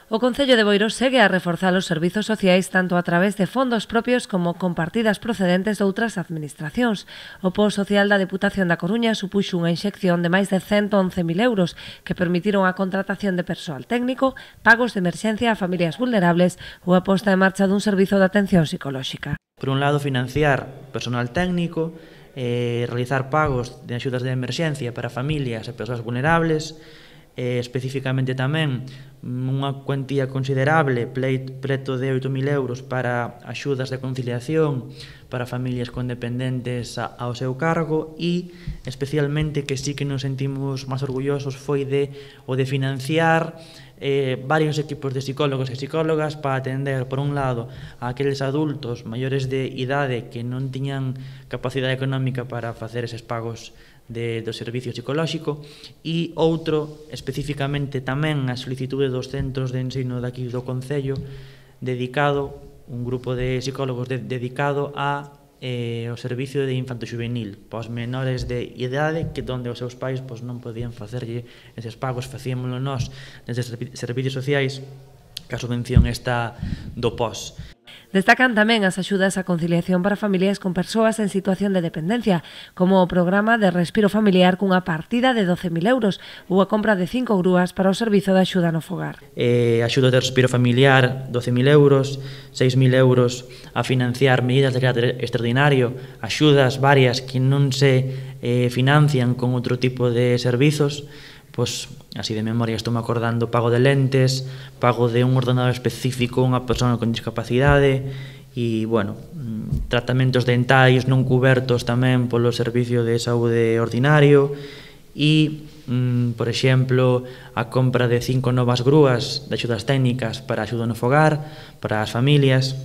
O Concello de Boiro segue a reforzar os servizos sociais tanto a través de fondos propios como con partidas procedentes de outras administracións. O posto social da Deputación da Coruña supuxo unha inxección de máis de 111.000 euros que permitiron a contratación de persoal técnico, pagos de emerxencia a familias vulnerables ou a posta en marcha dun servizo de atención psicolóxica. Por un lado, financiar personal técnico, realizar pagos de axudas de emerxencia para familias e persoas vulnerables, especificamente tamén unha cuantía considerable, preto de 8.000 euros para axudas de conciliación para familias con dependentes ao seu cargo e especialmente que sí que nos sentimos máis orgullosos foi de financiar varios equipos de psicólogos e psicólogas para atender, por un lado, a aqueles adultos maiores de idade que non tiñan capacidade económica para facer eses pagos do servicio psicolóxico e outro, especificamente tamén a solicitude dos centros de ensino daqui do Concello, dedicado, un grupo de psicólogos dedicado a o servicio de infanto-juvenil para os menores de idade que donde os seus pais non podían facerlle eses pagos, facíamoslo nós desde servicios sociais que a subvención está do POS. Destacan tamén as axudas á conciliación para familias con persoas en situación de dependencia, como o programa de respiro familiar cunha partida de 12.000 euros ou a compra de 5 grúas para o servizo de axuda no fogar. Axuda de respiro familiar, 12.000 euros, 6.000 euros a financiar medidas de carácter extraordinario, axudas varias que non se financian con outro tipo de servizos, pois, así de memoria estou me acordando, pago de lentes, pago de un ordenador específico a unha persona con discapacidade e, bueno, tratamentos dentais non cubertos tamén polo servicio de saúde ordinario e, por exemplo, a compra de 5 novas grúas de axudas técnicas para axuda no fogar, para as familias.